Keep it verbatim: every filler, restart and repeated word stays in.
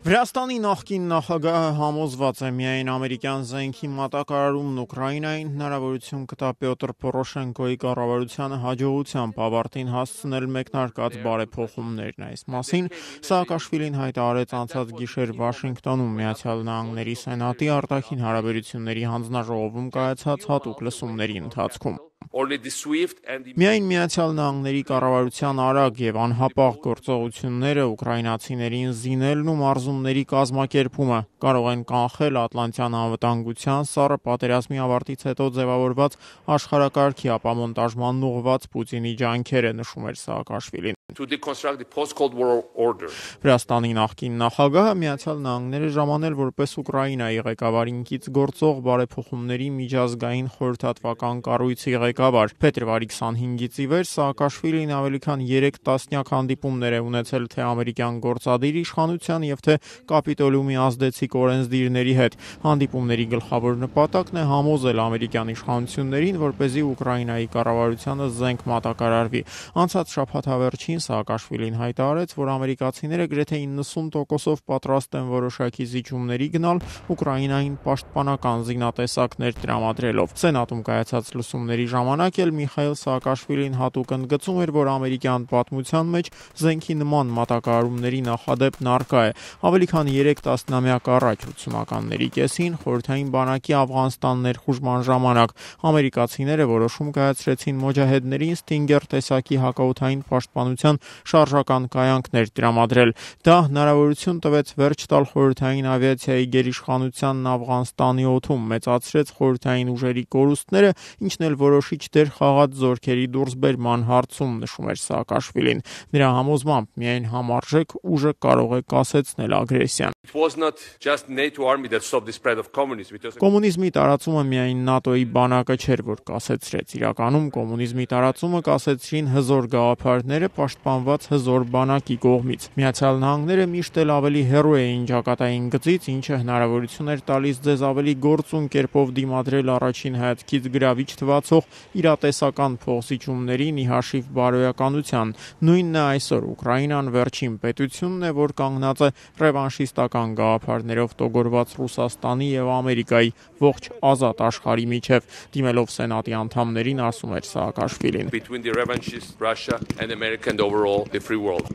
Վրաստանի նախկին նախագահը համոզված է միայն ամերիկյան զենքի մատակարարումն Ուկրաինային հնարավորություն կտա Պյոտր Պորոշենկոյի կառավարությանը հաջողությամբ ավարտին հասցնել մեկնարկած բարեփոխումներն։ Այս մասին Սաակաշվիլին հայտարարեց անցած գիշեր Վաշինգտոնում Միացյալ Նահանգների Սենատի արտաքին հարաբերությունների հանձնաժողովում կայացած հատուկ լսումների ընթացքում։ Միայն Միացյալ Նահանգների կառավարության արագ եւ անհապաղ գործողությունները ուկրաինացիներին զինելն ու մարզումների կազմակերպումը կարող են կանխել Ատլանտյան անվտանգության սառը պատերազմի ավարտից հետո ձևավորված աշխարհակարգի ապամոնտաժման ուղղված Պուտինի ջանքերը, նշում էր Սաակաշվիլին։ Վրաստանի նախկին նախագահը Միացյալ Նահանգները ժամանել որպես Ուկրաինայի ղեկավարինքից գործող բարեփոխումների միջազգային խորհրդատվական կառույցի ղեկավար։ Փետրվարի քսանհինգից ի վեր Սաակաշվիլին ավելի քան երեք տասնյակ հանդիպումներ է ունեցել թե ամերիկյան գործադիր իշխանության եւ թե Կապիտոլիումի ազդեցիկ օրենսդիրների հետ։ Հանդիպումների գլխավոր նպատակն է համոզել ամերիկյան իշխանություններին, որպեսզի Ուկրաինայի կառավարությանը զենք մատակարարվի։ Անցած շաբաթավերջին Սաակաշվիլին հայտարարեց, որ ամերիկացիները գրեթե իննսուն տոկոսով պատրաստ են որոշակի զիջումների գնալ Ուկրաինային պաշտպանական զինատեսակներ տրամադրելով։ Սենատում կայացած լսումների ժամանակ էլ Միխայիլ Սաակաշվիլին հատուկ ընդգծում էր, որ ամերիկյան պատմության մեջ զենքի նման մատակարարումների նախադեպն առկա է։ Ավելի քան երեք տասնամյակ առաջ ութսունականների կեսին խորհրդային բանակի Աֆղանստան ներխուժման ժամանակ ամերիկացիները որոշում կայացրեցին մոջահեդներին Ստինգեր տեսակի հակաօդային պաշտպանության շարժական կայանքներ տրամադրել։ Դա հնարավորություն տվեց վերջ տալ խորհրդային ավիացիայի գերիշխանությանն Աֆղանստանի օդում, մեծացրեց խորհրդային ուժերի կորուստները, ինչն էլ որոշիչ դեր խաղաց զորքերի դուրսբերման հարցում, նշում էր Սաակաշվիլին։ Նրա համոզմամբ միայն համարժեք ուժը կարող է կասեցնել ագրեսիան։ Կոմունիզմի տարածումը միայն ՆԱՏՕ-ի բանակը չէր, որ կասեցրեց։ Իրականում կոմունիզմի տարածումը կասեցրին հզոր գաղափարները պաշտպանված հզոր բանակի կողմից։ Միացյալ Նահանգները միշտ էլ ավելի հեռու էին ճակատային գծից, ինչը հնարավորություն էր տալիս ձեզ ավելի գործուն կերպով դիմադրել առաջին հայացքից գրավիչ թվացող իրատեսական փոխզիջումներին ի հաշիվ բարոյականության։ Նույնն է այսօր Ուկրաինան վերջին պետությունն է, որ կանգնած է ռևանշիստական գաղափարներով տոգորված Ռուսաստանի եւ Ամերիկայի ողջ ազատ աշխարհի միջև։ Դիմելով Սենատի անդամներին, ասում էր Սաակաշվիլին. Between the revanchist Russia and America and overall the free world.